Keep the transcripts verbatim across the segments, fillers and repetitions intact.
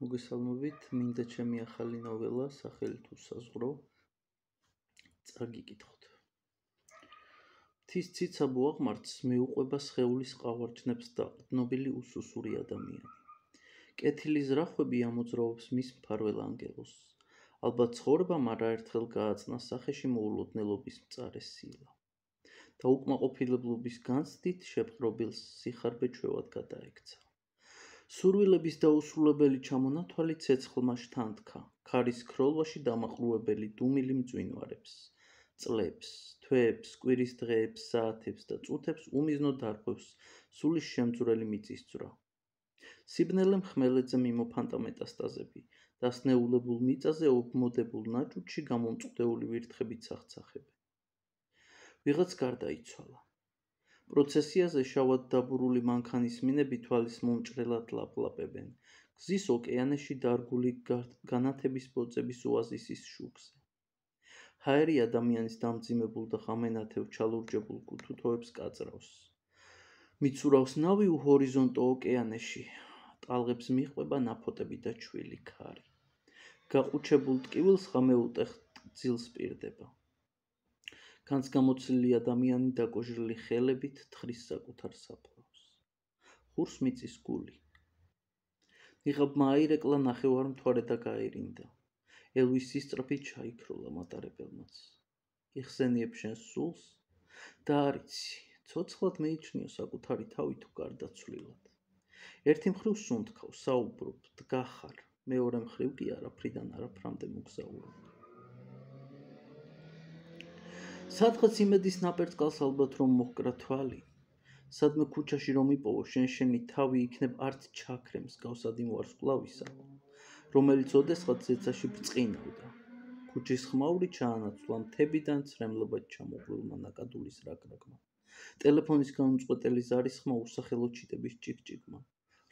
მოგესალმებით, მინდა ჩემი ახალი ნოველა, სახელით უსაზღვრო, წაგიკითხოთ. მთის ციცაბო აღმართს მიუყვება სხეულის ყავარჯნებს დაყრდნობილი უსუსური ადამიანი. კეთილი ზრახვები ამოძრავებს მის მფარველ ანგელოზს. ალბათ ცხოვრებამ არაერთხელ გააწნა სახეში მოულოდნელობის მწარე სილა. და უკმაყოფილებლობის განცდით შეპყრობილს სიხარბე-ჩვევად გადაექცა. სურვილების დაუსრულებელი ჩამონათვალი ცეცხლმა შთანთქა, ქარის ქროლვაში დამაყრუებელი დუმილი მძვინვარებს, წლებს, თვეებს, კვირის დღეებს, საათებს და წუთებს უმიზნო დარღვევს სულის შემძვრელი მიწისძვრა. სიბნელე მხმელეთზე მიმოფანტა მეტასტაზები, დასნეულებულ მიწაზე ობმოდებულ ნაჭუჭში გამომწყვდეული ვირთხებით ცახცახებენ. ვიღაც გარდაიცვალა. პროცესიაზე შავად დაბურული მანქანის მინები თვალის მომჭრელად ლაპლაპებენ, გზის ოკეანეში დარგული განათების ბოძების ოაზისის შუქზე. ჰაერი ადამიანის დამძიმებულ და ღამენათევ ჩალურჯებულ კუთუთოებს კაწრავს. მიცურავს ნავი უჰორიზონტო ოკეანეში, ტალღებს მიჰყვება ნაფოტები და ჩვილი ქარი. გაყუჩებულ ტკივილს ღამე უტეხ-ტკძილს პირდება. განს გამოცლილი ადამიანი დაკოჟრილი ხელებით თხრის საკუთარ საფლავს. ხურს მიწის გული. ნიღაბმა აირეკლა ნახევარმთვარე და გაერინდა. ელვის სისწრაფით ჩაიქროლა მატარებელმაც. იხსენიებ შენს სულს და არიცი, ცოცხლად მეიჩნიო საკუთარი თავი თუ გარდაცვლილად. ერთი მხრივ სუნთქავ, საუბრობ, დგახარ, მეორე მხრივ კი არაფრიდან არაფრამდე მოგზაურობ. სადღაც იმედის ნაპერწკალს ალბათ რომ მოჰკრა თვალი, სადმე ქუჩაში რომ იპოვო შენ შენი თავი იქნებ არც ჩაქრემს გავსადი ვარსკვლავისა, რომელიც ოდესღაც ზეცაში ბრწყინავდა. ქუჩის ხმაური ჩაანაცვლა მთებიდან ცრემლობად ჩამოღვილმა ნაკადულის რაგრაგმა. ტელეფონის განუწყვეტელი ზარის ხმა უსახელო ჩიტების ჭიკჭიკმა.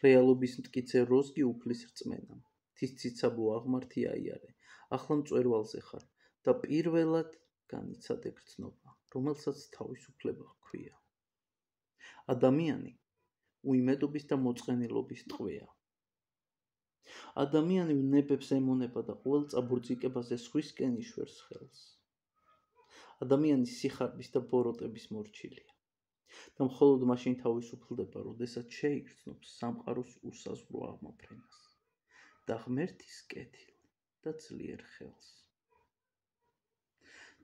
რეალობის მტკიცე როზგი უფლის რწმენამ. მთის ციცაბო აღმართი აიარე, ახლა მწვერვალზე ხარ და პირველად განიცადე გრძნობა, რომელსაც თავისუფლება ჰქვია. ადამიანი უიმედობის და მოწყენილობის ტყვეა. ადამიანი ვნებებს ემონება და ყოველ წაბურძიკებაზე სხვისკენ იშვერს ხელს. ადამიანი სიხარბის და ბოროტების მორჩილია და მხოლოდ მაშინ თავისუფლდება, როდესაც შეიგრძნობს სამყაროს უსაზღვრო აღმოფრენას და ღმერთის კეთილ და ძლიერ ხელს.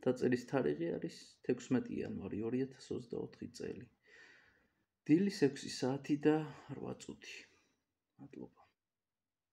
დაწერის თარიღი არის თექვსმეტი იანვარი ორი ათას ოცდაოთხი წელი. დილის ექვსი საათი და რვა წუთი. მადლობა.